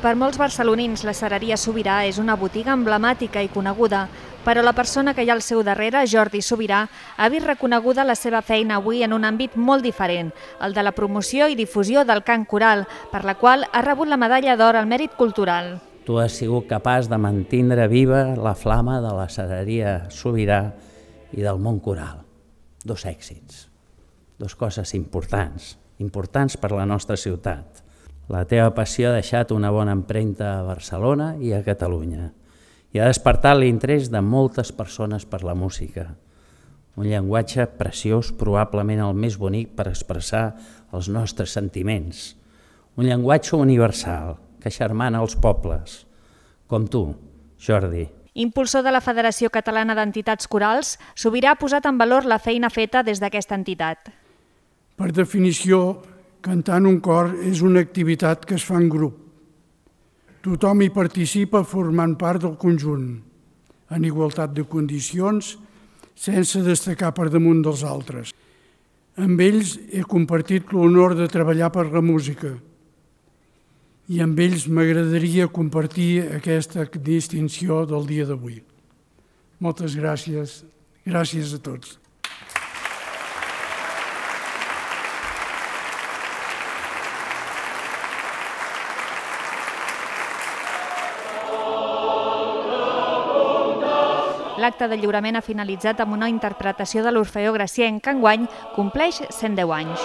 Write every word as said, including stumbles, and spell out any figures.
Per molts barcelonins, la Cereria Sobirà és una botiga emblemàtica i coneguda, però la persona que hi ha al seu darrere, Jordi Sobirà, ha vist reconeguda la seva feina avui en un àmbit molt diferent, el de la promoció i difusió del cant coral, per la qual ha rebut la medalla d'or al mèrit cultural. Tu has sigut capaç de mantindre viva la flama de la Cereria Sobirà i del món coral. Dos èxits, dos coses importants, importants per la nostra ciutat. La teva passió ha deixat una bona empremta a Barcelona i a Catalunya i ha despertat l'interès de moltes persones per la música. Un llenguatge preciós, probablement el més bonic per expressar els nostres sentiments. Un llenguatge universal que xermana els pobles, com tu, Jordi. Impulsor de la Federació Catalana d'Entitats Corals, Sobirà ha posat en valor la feina feta des d'aquesta entitat. Per definició, cantar en un cor és una activitat que es fa en grup. Tothom hi participa formant part del conjunt, en igualtat de condicions, sense destacar per damunt dels altres. Amb ells he compartit l'honor de treballar per la música i amb ells m'agradaria compartir aquesta distinció del dia d'avui. Moltes gràcies. Gràcies a tots. L'acte de lliurament ha finalitzat amb una interpretació de l'Orfeó Gracienc, que enguany compleix cent deu anys.